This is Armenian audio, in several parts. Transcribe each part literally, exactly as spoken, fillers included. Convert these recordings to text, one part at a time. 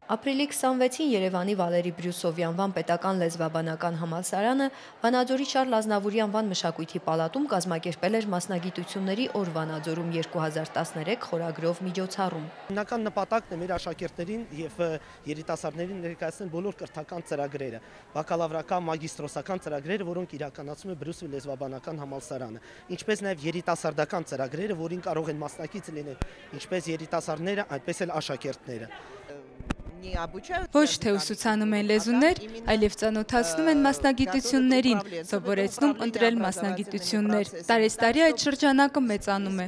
Ապրիլի քսանվեցին Երևանի Վալերի Բրյուսովի անվան պետական լեզվաբանական համալսարանը Վանաձորի Շարլ Ազնավուրի անվան մշակույթի պալատում կազմակերպել էր մասնագիտությունների օր Վանաձորում երկու հազար տասներեք խորագրով միջոցառում։ Հիմնական նպատակն է մեր աշակերտներին եւ երիտասարդներին ներկայացնել բոլոր կրթական ծրագրերը, բակալավրական, մագիստրոսական ծրագրերը, որոնք իրականացում է Բրյուսովի լեզվաբանական համալսարանը, ինչպես նաեւ երիտասարդական ծրագրերը, որին կարող են մասնակից լինել ինչպես երիտասարդները, այնպես էլ աշակերտները։ Ոչ թե ուսուցանում են լեզուներ, այլև ծանոթացնում են մասնագիտություններին, սովորեցնում ընտրել մասնագիտություններ։ Տարեստարի այդ շրջանակը մեծանում է։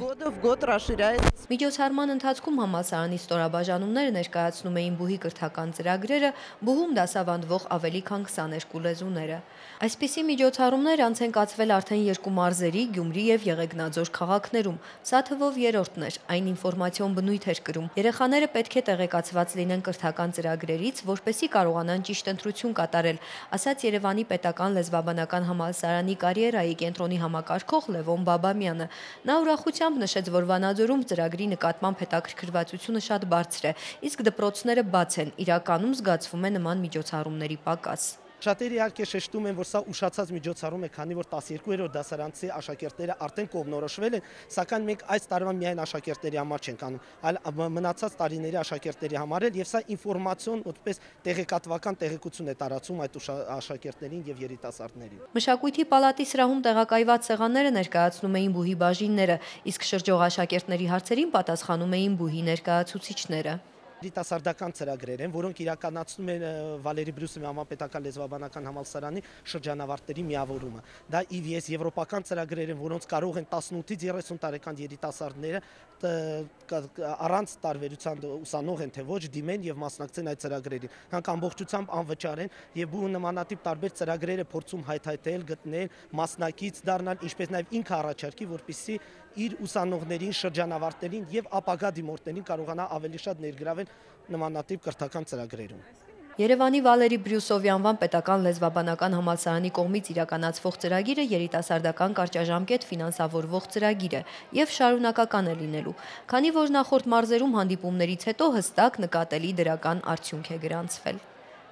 Միջոցառման ընթացքում համալսարանի ստորաբաժանումները ներկայացնում էին բուհի կրթական ծրագրերը, բուհում դասավանդվող ավելի քան քսաներկու լեզուները։ Այսպիսի միջոցառումներ անց են կացվել արդեն երկու մարզերի՝ Գյումրի եւ Եղեգնաձոր քաղաքներում։ Սա թվով երրորդն էր, այն ինֆորմացիոն բնույթ էր կրում։ Երեխաները պետք է տեղեկացված լինեն կրթական ծրագրերից, որպեսզի կարողանան ճիշտ ընտրություն կատարել, ասաց Երևանի պետական լեզվաբանական համալսարանի կարիերայի կենտրոնի համակարգող Լևոն Բաբամյանը։ Նա ուրախությամբ նշեց, որ Վանաձորում ծրագրի նկատմամբ հետաքրքրվածությունը շատ բարձր է, իսկ դպրոցները բաց են, իրականում զգացվում է նման միջոցառումների պակաս։ Շատերը իհարկե շեշտում են, որ սա ուշացած միջոցառում է, քանի որ տասներկուերորդ դասարանցի աշակերտները արդեն կողմնորոշվել են, սակայն մենք այս տարվա միայն աշակերտների համար չենք անում, այլ մնացած տարիների աշակերտների համար էլ, եւ սա ինֆորմացիոն, որպես տեղեկատվական տեղեկություն է տարածում այդ աշակերտներին եւ երիտասարդներին։ Մշակույթի պալատի սրահում տեղակայված սեղանները ներկայացնում էին բուհի բաժինները, իսկ շրջող աշակերտների հարցերին պատասխանում էին բուհի ներկայացուցիչները։ Երիտասարդական ծրագրեր են, որոնք իրականացնում են Վալերի Բրյուսովի անվան պետական լեզվաբանական համալսարանի շրջանավարտների միավորումը։ Դա ի վի էս եվրոպական ծրագրեր են, որոնց կարող են տասնութից երեսուն տարեկան երիտասարդները առանց տարբերության ուսանող են թե ոչ դիմեն եւ մասնակցեն այդ ծրագրերին։ Հանք ամբողջությամբ անվճար են եւ բու նմանատիպ տարբեր ծրագրեր է փորձում հայթայթել, գտնել, մասնակից դառնալ, ինչպես նաեւ ինքը առաջարկի, որպեսզի իր ուսանողներին, շրջանավարտներին եւ ապագա դիմորդներին կարողանա ավելի շատ ներգրավել նմանատիպ կրթական ծրագրերում։ Երևանի Վալերի Բրյուսովի անվան պետական լեզվաբանական համալսարանի կողմից իրականացվող ծրագիրը երիտասարդական կարճաժամկետ ֆինանսավորվող ծրագիր է եւ շարունակական է լինելու, քանի որ նախորդ մարզերում հանդիպումներից հետո հստակ նկատելի դրական արդյունք է գրանցվել։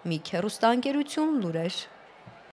Մի հեռուստաընկերություն, լուրեր։